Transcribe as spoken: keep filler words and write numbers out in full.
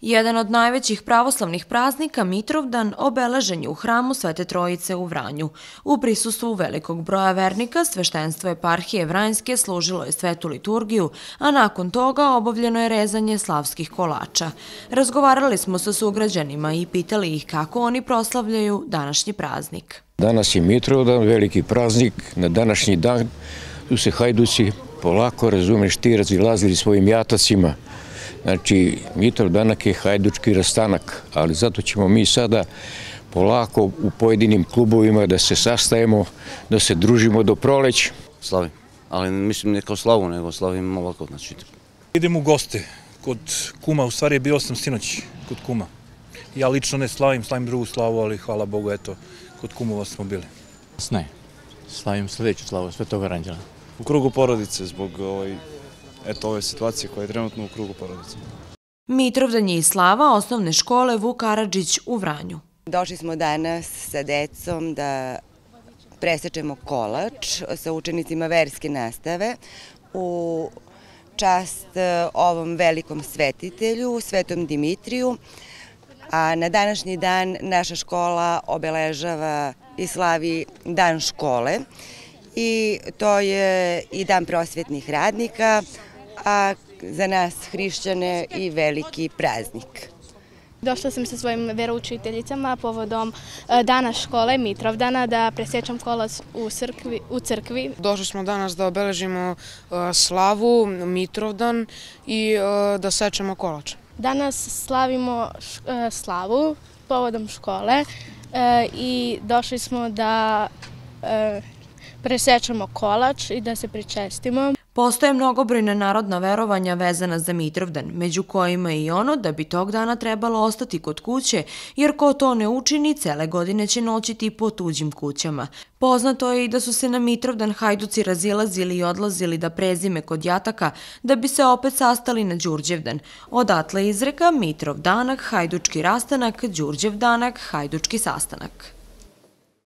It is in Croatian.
Jedan od najvećih pravoslavnih praznika, Mitrovdan, obeležen je u hramu Svete Trojice u Vranju. U prisustvu velikog broja vernika, sveštenstvo eparhije Vranjske služilo je svetu liturgiju, a nakon toga obavljeno je rezanje slavskih kolača. Razgovarali smo sa sugrađanima i pitali ih kako oni proslavljaju današnji praznik. Danas je Mitrovdan, veliki praznik. Na današnji dan su se hajduci polako, razumeš ti, razilazili svojim jatacima. Znači, Mitrovdanak je hajdučki rastanak, ali zato ćemo mi sada polako u pojedinim klubovima da se sastajemo, da se družimo do proleća. Slavim, ali mislim ne kao slavu, nego slavim ovako, znači. Idem u goste kod kuma, u stvari bio sam sinoć kod kuma. Ja lično ne slavim, slavim drugu slavu, ali hvala Bogu, eto, kod kumova smo bili. Ne, slavim sljedeću slavu, Svetog Aranđela. U krugu porodice, zbog ovaj, eto, ove situacije koja je trenutno u krugu porodice. Mitrovdan je i slava osnovne škole Vuk Karadžić u Vranju. Došli smo danas sa decom da presečemo kolač sa učenicima verske nastave u čast ovom velikom svetitelju, Svetom Dimitriju. A na današnji dan naša škola obeležava i slavi Dan škole i to je i Dan prosvetnih radnika, a za nas hrišćane i veliki praznik. Došla sam sa svojim veroučiteljicama povodom Dana škole, Mitrovdana, da presečem kolač u crkvi. Došli smo danas da obeležimo slavu, Mitrovdan i da sečemo kolač. Danas slavimo slavu povodom škole i došli smo da presečemo kolač i da se pričestimo. Postoje mnogobrojna narodna verovanja vezana za Mitrovdan, među kojima je i ono da bi tog dana trebalo ostati kod kuće, jer ko to ne učini, cele godine će noćiti po tuđim kućama. Poznato je i da su se na Mitrovdan hajduci razilazili i odlazili da prezime kod jataka, da bi se opet sastali na Đurđevdan. Odatle izreka Mitrovdanak, hajdučki rastanak, Đurđevdanak, hajdučki sastanak.